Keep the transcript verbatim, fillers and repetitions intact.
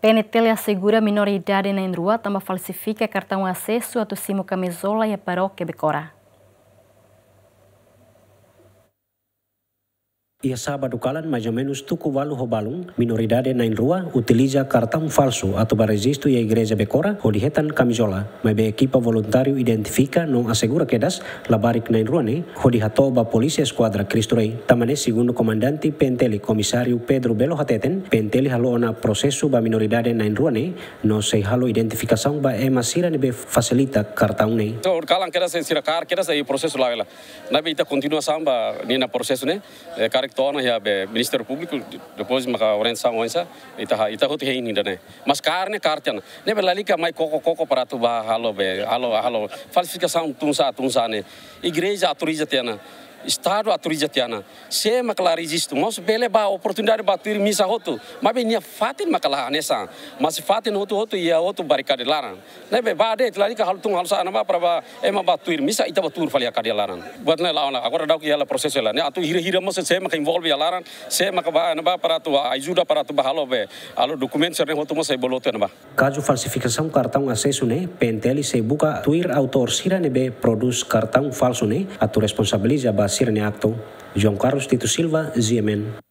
PNTL asegura minoridade na'in-rua tanba falsifika kartaun asesu atu simu kamizola iha parókia Becora. Iha sábadu kalan, mais ou menus tuku ualu ho balun, minoridade na'in-rua utiliza kartaun falsu atu ba rejistu iha igreja Becora hodi hetan kamizola. Maibé ekipa voluntáriu identifika no asegura kedas labarik na'in-rua ne'e hodi hato'o ba polísia eskuadra Cristo Rei. Tanba ne'e, segundu komandante PNTL, komisáriu Pedro Belo hateten, PNTL halo ona prosesu ba minoridade na'in-rua ne'e, no sei halo identifikasaun ba ema sira ne'ebé fasilita kartaun ne'e. So, kalan kedas sira kaer kedas, prosesu la'o hela. Ne'ebé ita kontinua samba ninia prosesu ne'e, eh, karik to'o ona iha be Ministériu Públiku, depois maka orientasaun oinsá, ita ha-, ita hotu hein ida-ne'e. Mas kaer ne'e kaer tiha ona. Ne'ebé lalika mai koko-koko para atu ba halo be, halo, halo falsifikasaun tun-sa'e, tun-sa'e ne'e. Igreja autoriza tiha ona. Estadu autoriza tiha ona. Sé maka la rejistu, mós bele ba oportunidade ba tuir misa hotu. Maibé nia fatin maka la hanesan. Mas fatin hotu-hotu iha hotu barikada laran. Ne'ebé ba de'it, lalika halo tun halo sa'e ne'ebá para ba ema ba tuir misa, ita ba tuur fali iha kadeia laran. Buat ne'e la'o ona, agora daudauk iha hela prosesu hela. Ne'e atu hira-hira mós sé maka envolve iha laran, sé maka ba ne'ebá para atu ajuda para atu ba halo be, halo dokumentu sira-ne'e hotu mós sei bolu tiha ona ba. Kazu falsifikasaun kartaun asesu ne'e, PNTL sei buka tuir autór sira ne'ebé prodús kartaun falsu ne'e, atu responsabiliza ba sira-nia aktu. João Carlos Tito Silva, GMN.